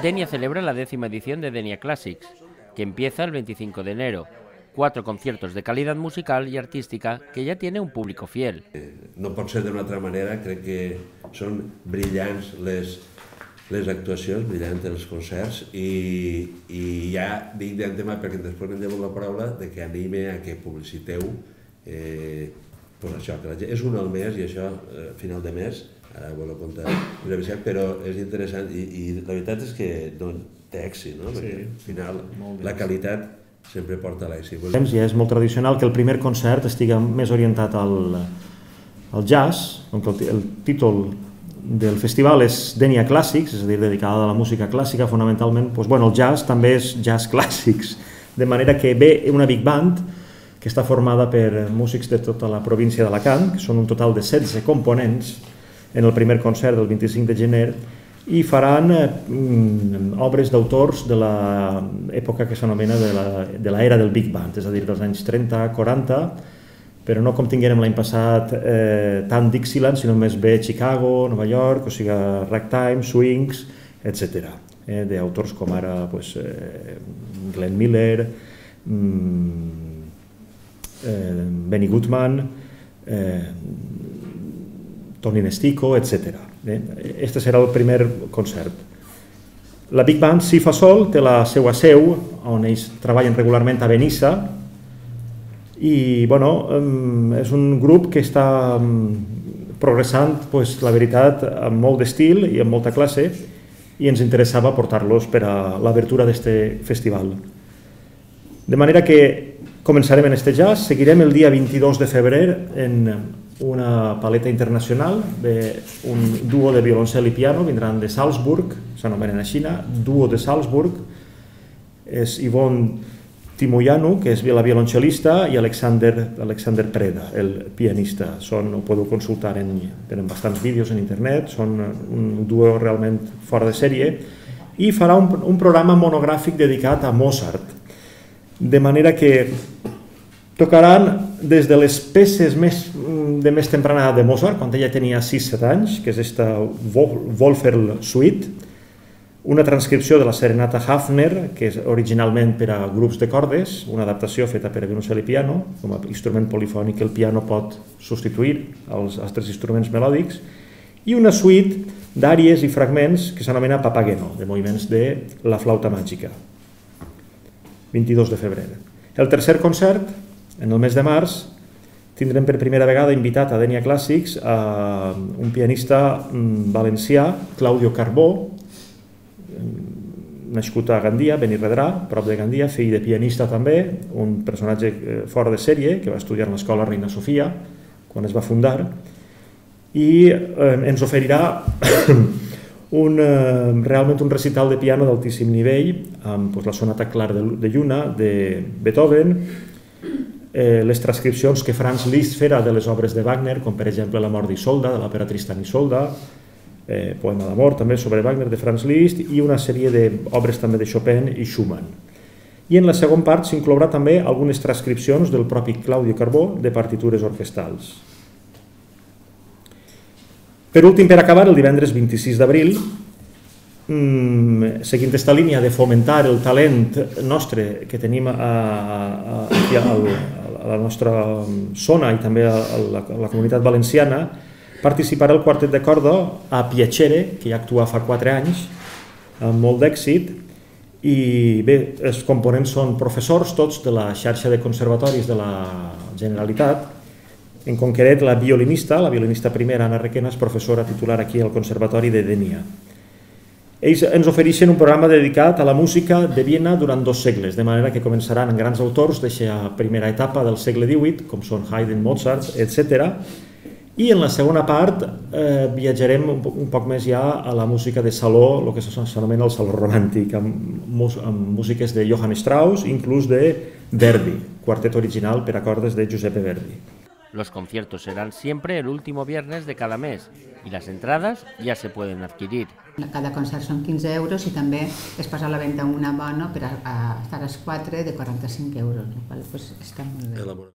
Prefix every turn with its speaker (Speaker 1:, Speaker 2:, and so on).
Speaker 1: Denia celebra la 10ª edición de Denia Classics, que empieza el 25 de enero. 4 conciertos de calidad musical y artística que ya tiene un público fiel.
Speaker 2: No pot ser d'una altra manera, crec que són brillants les actuacions, brillants els concerts, i ja dic d'antemà, perquè després em devo la paraula, que anime a que publiciteu això, que la gent és un al mes i això, a final de mes, ara ho comptar, però és interessant i la veritat és que té èxit, no? Perquè al final la qualitat sempre porta l'èxit.
Speaker 3: Ja és molt tradicional que el primer concert estigui més orientat al jazz, com que el títol del festival és Denia Classics, és a dir, dedicada a la música clàssica fonamentalment. El jazz també és jazz clàssics, de manera que ve una big band que està formada per músics de tota la província d'Alacant, que són un total de 16 components en el primer concert del 25 de gener, i faran obres d'autors de l'època que s'anomena de l'era del Big Band, és a dir, dels anys 30-40, però no com tinguérem l'any passat tant Dixieland, sinó més bé Chicago, Nova York, o sigui, ragtime, swings, etc. D'autors com ara Glenn Miller, Benny Goodman, Tony Nestico, etc. Este serà el primer concert. La Big Band, si fa sol, té la seva seu, on ells treballen regularment a Benissa, i és un grup que està progressant, la veritat, amb molt d'estil i amb molta classe, i ens interessava portar-los per a l'obertura d'aquest festival. De manera que començarem en este jazz, seguirem el dia 22 de febrer en una paleta internacional, un duo de violoncel i piano, vindran de Salzburg, s'anomenen així, duo de Salzburg, és Yvonne Timoianu, que és la violoncel·lista, i Alexander Preda, el pianista. Ho podeu consultar, tenen bastants vídeos en internet, són un duo realment fora de sèrie, i farà un programa monogràfic dedicat a Mozart, de manera que tocaran des de les peces de més temprana de Mozart, quan ella tenia 6-7 anys, que és esta Wolferl Suite, una transcripció de la serenata Hafner, que és originalment per a grups de cordes, una adaptació feta per a violoncel i piano, com a instrument polifònic que el piano pot substituir als altres instruments melòdics, i una suite d'àries i fragments que s'anomena Papageno, de moviments de la flauta màgica. 22 de febrer. El tercer concert, en el mes de març, tindrem per primera vegada invitat a Denia Classics un pianista valencià, Claudio Carbó, nascut a Gandia, Benirredrà, prop de Gandia, fill de pianista també, un personatge fora de sèrie, que va estudiar a l'escola Reina Sofia, quan es va fundar, i ens oferirà realment un recital de piano d'altíssim nivell, amb la sonata Clar de Lluna, de Beethoven, les transcripcions que Franz Liszt farà de les obres de Wagner, com per exemple La mort d'Isolda, de l'òpera Tristan i Isolda, Poema d'amor també sobre Wagner de Franz Liszt, i una sèrie d'obres també de Chopin i Schumann. I en la segona part s'inclourà també algunes transcripcions del propi Claudio Carbó de partitures orquestrals. Per últim, per acabar, el divendres 26 d'abril, seguint aquesta línia de fomentar el talent nostre que tenim a la nostra zona i també a la comunitat valenciana, participarà el quartet de corda a Piacere, que ja actua fa 4 anys, amb molt d'èxit, i bé, els components són professors tots de la xarxa de conservatoris de la Generalitat. En concret, la violinista primera, Anna Requena, és professora titular aquí al Conservatori de Denia. Ells ens ofereixen un programa dedicat a la música de Viena durant 2 segles, de manera que començaran amb grans autors d'aquesta primera etapa del segle XVIII, com són Haydn, Mozart, etc. I en la segona part viatjarem un poc més ja a la música de saló, el que s'anomena el saló romàntic, amb músiques de Johann Strauss, inclús de Verdi, quartet original per a cordes de Giuseppe Verdi.
Speaker 1: Los conciertos serán siempre el último viernes de cada mes y las entradas ya se pueden adquirir.
Speaker 4: Cada concert són 15 euros i també es posa a la venda un abono per a estar als 4 de 45 euros, el qual està molt bé.